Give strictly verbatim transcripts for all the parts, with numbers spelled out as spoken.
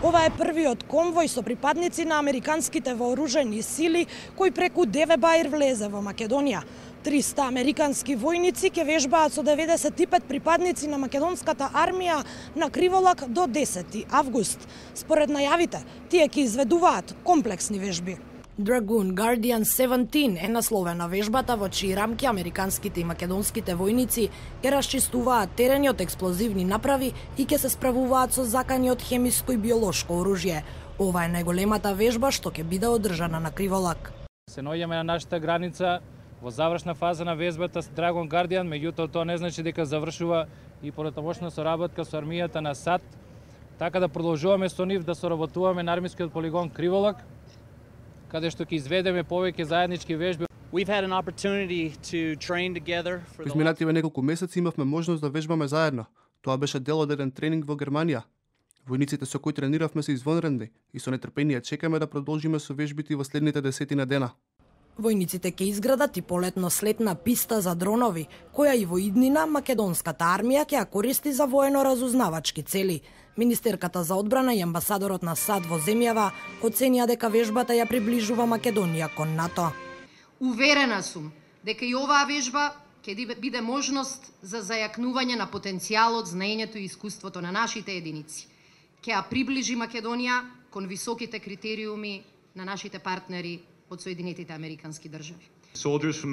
Ова е првиот конвој со припадници на американските вооружени сили кој преку Деве Баир влезе во Македонија. триста американски војници ќе вежбаат со деветдесет и пет припадници на македонската армија на криволак до десети август. Според најавите, тие ќе изведуваат комплексни вежби. Dragoon Guardian седумнаесет е насловена вежбата во чии рамки американските и македонските војници ќе расчистуваат терени од експлозивни направи и ќе се справуваат со закани од хемиско и биолошко оружје. Ова е најголемата вежба што ќе биде одржана на Криволак. Се наоѓаме на нашата граница во завршна фаза на вежбата с Dragoon Guardian, меѓутоа тоа не значи дека завршува и понатамошна соработка со армијата на САД, така да продолжуваме со нив да соработуваме на армискиот полигон Криволак, каде што ќе изведеме повеќе заеднички вежби. We've had an opportunity to train together for the Изминативе неколку месеци имавме можност да вежбаме заедно. Тоа беше дел од еден тренинг во Германија. Војниците со кои трениравме се извонредни и со нетрпение чекаме да продолжиме со вежбите во следните десетина дена. Војниците ќе изградат и полетно-слетна писта за дронови, која и во иднина македонската армија ќе ја користи за воено-разузнавачки цели. Министерката за одбрана и амбасадорот на САД во земјава оценија дека вежбата ја приближува Македонија кон НАТО. Уверена сум дека и оваа вежба ќе биде можност за зајакнување на потенцијалот, знаењето и искуството на нашите единици. Ќе ја приближи Македонија кон високите критериуми на нашите партнери од Соединетите Американски држави. Војници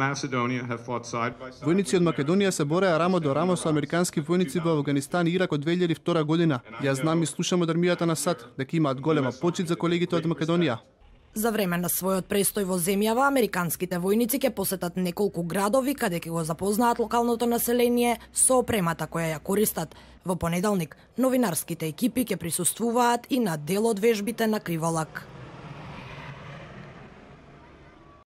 од Македонија се бореа рамо до рамо со американски војници во Авганистан и Ирак од две илјади и втора година. Ја знам и слушам од армијата на САД дека имаат голема почит за колегите од Македонија. За време на својот престој во земјава, американските војници ќе посетат неколку градови каде ќе го запознаат локалното население со опремата која ја користат. Во понеделник, новинарските екипи ќе присуствуваат и на дел од вежбите на Криволак.